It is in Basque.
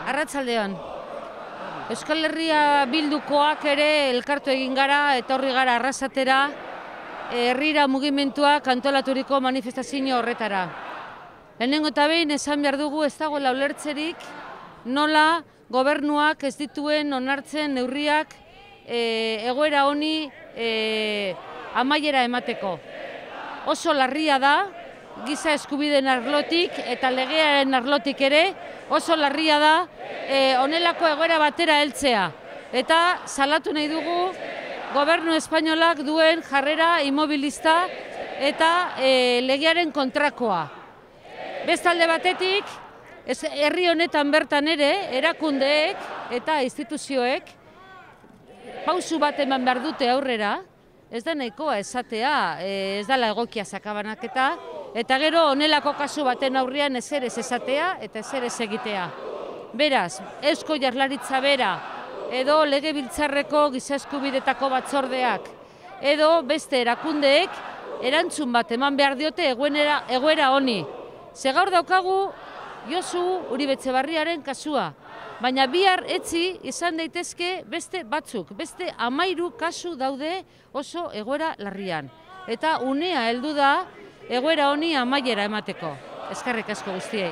Arratsaldean. Euskal Herria Bildukoak ere elkartu egin gara eta horri gara Arrasatera herrira mugimenduak antolaturiko manifestazio horretara. Lehenengo eta behin esan behar dugu ez dagoela ulertzerik nola gobernuak ez dituen onartzen neurriak egoera honi amaiera emateko. Oso larria da, giza eskubideen arlotik eta legearen arlotik ere, oso larria da honelako egoera batera heltzea. Eta salatu nahi dugu gobernu espainolak duen jarrera immobilista eta legearen kontrakoa. Bestalde batetik, herri honetan bertan ere, erakundeek eta instituzioek pausu bat eman behar dute aurrera, ez da nahikoa esatea, ez dela egokia sakabanaketa, eta gero honelako kasu baten aurrean ezer ez esatea eta ezer ez egitea. Beraz, Eusko Jaurlaritza bera, edo Legebiltzarreko giza eskubidetako batzordeak, edo beste erakundeek erantzun bat eman behar diote egoera honi. Ze gaur daukagu Josu Uribe Etxebarriaren kasua, baina bihar etzi izan daitezke beste batzuk, beste 13 kasu daude oso egoera larrian. Eta unea heldu da egoera honi amaiera emateko. Eskerrik asko guztiei.